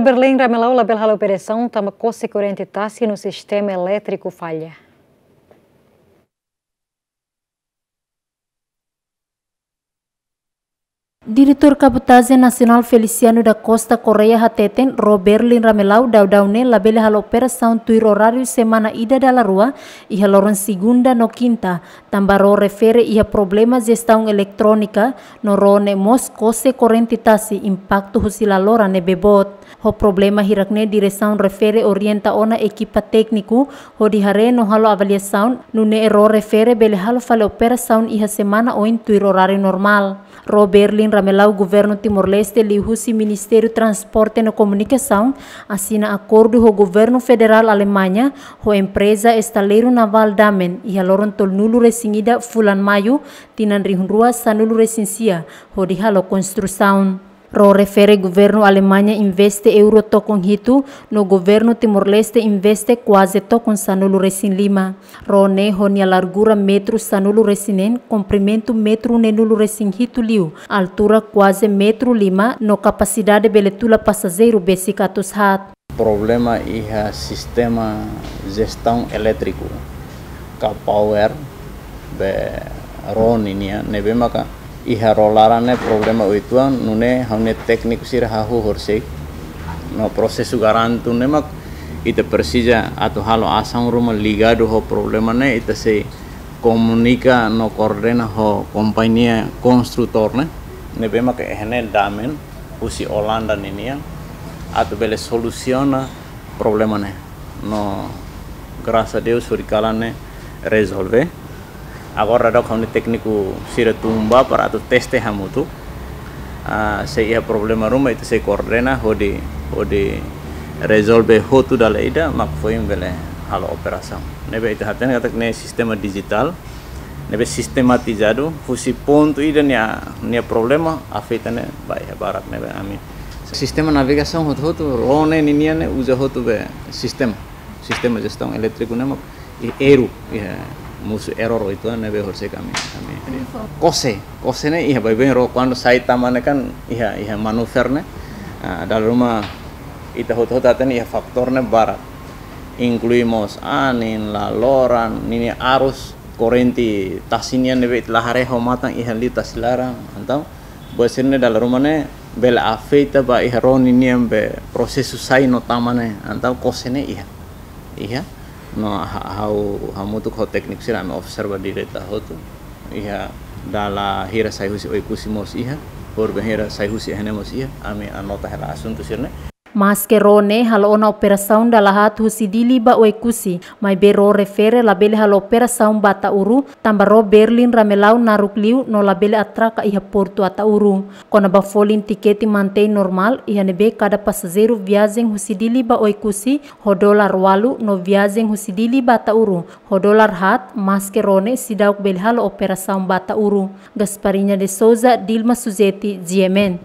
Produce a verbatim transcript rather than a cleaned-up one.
Berlin Ramelau labele halo operasaun tanba kose korrente tasi no sistema elétriku falla. Diretór Kabotajen Nasionál Feliciano da Costa Correia hateten, ró Berlin Ramelau daudaun ne'e labele halo operasaun tuir oráriu semana ida dala rua, iha loron segunda no kinta, tanba ró refere iha problema jestaun eletrónika, no ró ne'e mós kose korrente tasi, impaktu husi laloran ne'ebé boot. Ho problema hirak ne'e diresaun refere orienta ona ekipa tékniku hodi haree no halo avaliasaun, nune'e ró refere bele halo fali operasaun iha semana oin tuir oráriu normál. Ró Berlin Ramelau, Governu Timor-Leste liuhusi Ministériu Transporte no Komunikasaun asina akordu ho Governu Federál Alemaña, ho empreza estaleiru navál Damen, iha loron tolunulu-resin-ida fulan Maiu, tinan rihun rua sanulu-resin-sia, hodi halo konstrusaun. Ró refere Governu Alemaña investe euro tokon hitu, no Governu Timor-Leste investe kuaze tokon sanulu-resin-lima. Ró ne'e ho nia largura metru sanulu-resin-neen, komprimentu metru neenulu-resin-hitu liu, altura kuaze metru lima, no kapasidade bele tula pasajeiru besik atus haat. Problema iha sistema jestaun elétriku ka power be ró nian, ne'ebé maka iha ró laran ne'e problema uitoan, nune'e ha'u-nia tékniku sira hahú horisehik. No prosesu garantu ne'e mak ita presiza atu halo asaun ruma ligadu ho problema ne'e, ita sei komunika no koordena ho kompañia konstrutór ne'e, ne'ebé maka iha ne'e Damen, husi Olanda ninian, atu bele solusiona problema ne'e. No, grasas a Deus, hori kalan ne'e rezolve. Agora daudaun ha'u-nia tékniku sira tun ba para atu teste hamutuk. Ah, se iha problema ruma, ita sei koordena hodi, hodi rezolve hotu dala ida, mak foin bele halo operasaun. Ne'ebé ita hatene katak ne'e sistema dijitál, ne'ebé sistematizadu, husi pontu ida nia, nia problema, afeta ne'e ba iha barak, ne'ebé ami. Sistema navegasaun hotu-hotu, ró ne'e ninian ne'e uza hotu be sistema. Sistema jestaun elétriku ne'e mak i-, erru, iha mosu error uitoan ne'ebé horisehik ami, ami. Kose, kose ne'e iha baibain ró, kuandu sai tama ne'e kan iha, iha manuver ne'e. Ah, dala ruma ita hotu-hotu hatene iha fatór ne'e barak. Inklui mós anin, laloran, ninia arus, korrente tasi nian ne'ebé ita la haree ho matan iha liu tasi laran, entaun buat sira-ne'e dala ruma ne'e bele afeta ba iha ró ninian be prosesu sai no tama ne'e, entaun kose ne'e iha. Iha, no ha-, ha'u hamutuk ho tékniku sira ami observa direta hotu. Iha dala hira sai husi Oekusi mós iha, horibainhira sai husi iha ne'e mós iha, ami anota hela asuntu sira-ne'e. Maske ró ne'e halo ona operasaun dala haat husi Dili ba Oekusi, maibé ró refere labele halo operasaun ba Ataúru, tanba ró Berlin Ramelau naruk liu no labele atraka iha portu Ataúru. Kona-ba folin tikete mantein normál, iha ne'ebé kada pasajeiru viajen husi Dili ba Oekusi ho dolar ualu no viajen husi Dili ba Ataúru ho dolar haat, maske ró ne'e seidauk bele halo operasaun ba Ataúru. Gasparinha de Souza, Dilma Suzeti, G M N.